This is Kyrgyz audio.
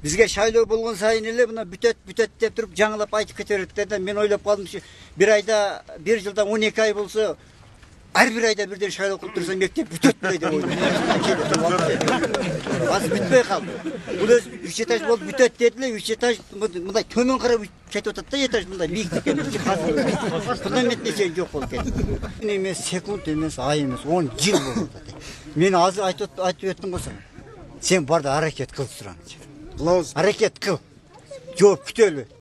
Бизге шайлоо болгон сайын эле мына бүтөт деп туруп жаңылап айтып кете берет да. Мен ойлоп калдым, бир айда, бир жылда 12 ай болсо, ар бир айда бирден шайлоо кылып турса мектеп бүтөт беле деп ойлойм. Азыр бүтпөй калды. Бул өзү 3 этаж болуп бүтөт дедиле, 3 этаж мындай төмөн карап кетип атат да, этаж мындай бийиктикке. Фундамент нече жок болуп кетти. Эмес секунд эмес, ай эмес, 10 жыл болуп атат. Мен азыр айтып өттүм го сага. Сен бар да аракет кыл тураңчы. Кылабыз. Аракет кыл. Жооп күтөлү.